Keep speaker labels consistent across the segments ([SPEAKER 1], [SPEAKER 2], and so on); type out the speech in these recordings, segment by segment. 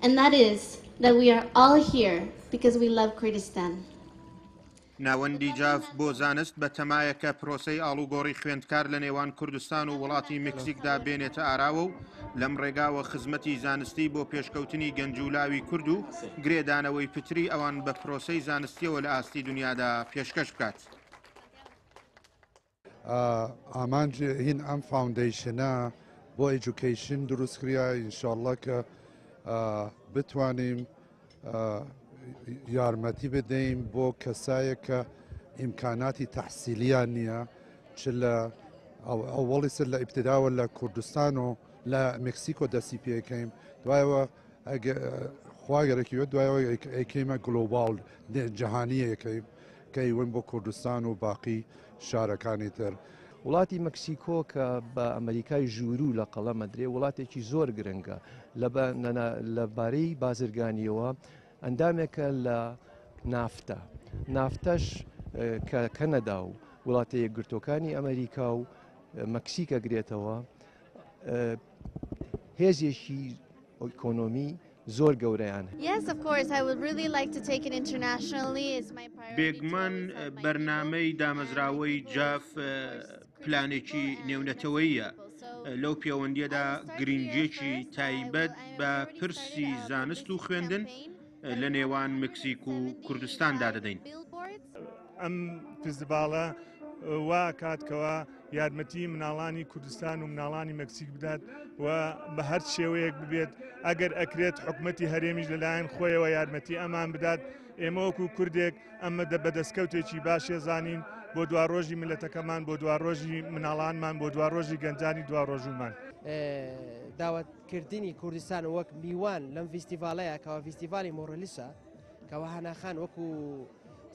[SPEAKER 1] And that is that we are all here because we love Kurdistan.
[SPEAKER 2] ناوەندی جاف بۆ زانست بە تەمایە کە پرۆسەی ئاڵوگۆڕی خوێندکار لە نێوان کوردستان و وڵاتی مەکسیکدا بێنێتە ئاراوە و لەم ڕێگاوە خزمەتی زانستی بۆ پێشکەوتنی گەنج و لاوی کورد و گرێدانەوەی پتری ئەوان بە پرۆسەی زانستیەوە لە ئاستی دنیادا پێشکەش بکات.
[SPEAKER 3] ئامانج هین ئەم foundation ە بۆ education دروست کریا ئینشاءاللە کە بتوانین یارمەتی بدەین بۆ کەسایەک کە ئیمکاناتی تەحسیلیان نییە چ لە ئەوەڵی سەر لە ئیبتداوە لە کوردستان و لە مکسیکۆ دەستی پێکەین دوایەوە خواگەرەکی دوایەوە ئەیکەیمە global جیهانیەکەی کە ئیوەن بۆ کوردستان و باقی شارەکانی تر.
[SPEAKER 4] وڵاتی مەکسیکۆ کە بە ئەمەریکای ژووروو لە قەڵەم ئەدرێ وڵاتێکی زۆر گرنگە لە بارەی بازرگانیەوە ئەندامێکە لە نافتا نافتەش کە کەنەدا و وڵاتە یەکگرتوەکانی ئەمریکا و مەکسیک ئەگرێتەوە هێزێکی ئۆکۆنۆمی زۆر گەورەیان
[SPEAKER 2] بێگومان بەرنامەی دامەزراوەی جاف پلانێکی نێونەتەوەیە لەو پێوەندیەدا گرنگیەکی تایبەت بە پرسی زانست و خوێندن لە نێوان مکسیک و کوردستاندا دەدەین.
[SPEAKER 5] ئەم فیستیڤاڵە وا کات کەوا یارمەتی مناڵانی کوردستان و مناڵانی مەکسیک بدات و بە هەر شێوەیەک ببێت ئەگەر ئەکرێت حکومەتی هەرێمیش لەلایەن خۆیەوە یارمەتی ئەمان بدات ئێمە وەکو کوردێک ئەمە دە بەدەستکەوتێکی باشێ زانین بۆ دواڕۆژی میللەتەکەمان بۆ دواڕۆژی مناڵانمان بۆ دواڕۆژی گەنجانی دواڕۆژومان.
[SPEAKER 6] داوەتکردنی کوردستان وەک میوان لەم ڤیستیڤاڵەیە کەوا ڤیستیڤاڵی مۆڕلیسە کەوا هەناخان وەکو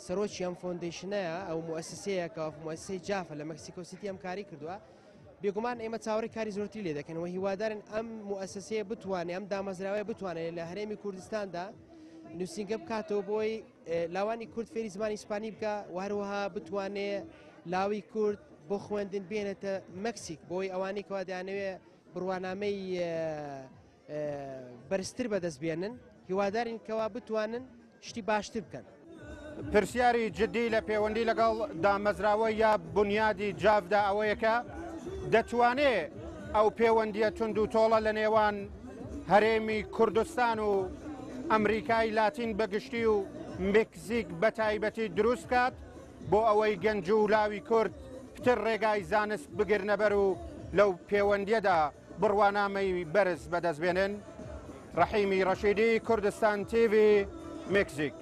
[SPEAKER 6] سەرۆکی ئەم foundation ەیە ئەو موسسەیە کە موسسەی جافە لە مەکسیکۆ سیتی ئەم کاری کردووە بێگومان ئێمە چاوەڕێی کاری زۆرتری لێ دەکەن و هیوادارن ئەم موسسەیە بتوانێت ئەم دامەزراوەیە بتوانێت لە هەرێمی کوردستاندا نووسینگە بکاتەوە بۆی لاوانی کورد فێری زمانی ئیسپانی بکە و هەروەها بتوانێ لاوی کورد بۆ خوێندن بێنێتە مەکسیک بۆی ئەوانەی کەوا دەیانەوێ بڕوانامەی بەرزتر بەدەست بێنن هیوادارین کەوا بتوانن شتی باشتر بکەن.
[SPEAKER 2] پرسیاری جدی لە پەیوەندی لەگەڵ دامەزراوە یا بنیادی جافدا ئەوەیە کە دەتوانێ ئەو پەیوەندیە توند و تۆڵە لە نێوان هەرێمی کوردستان و ئەمریکای لاتین بەگشتی و مکزیک بە تایبەتی دروست بکات بۆ ئەوەی گەنج و لاوی کورد پتر ڕێگای زانست بگرنەبەر و لەو پەیوەندیەدا بڕوانامەی بەرز بەدەست بێنن. ڕەحیمی ڕەشیدی، کوردستان تیڤی، مکزیک.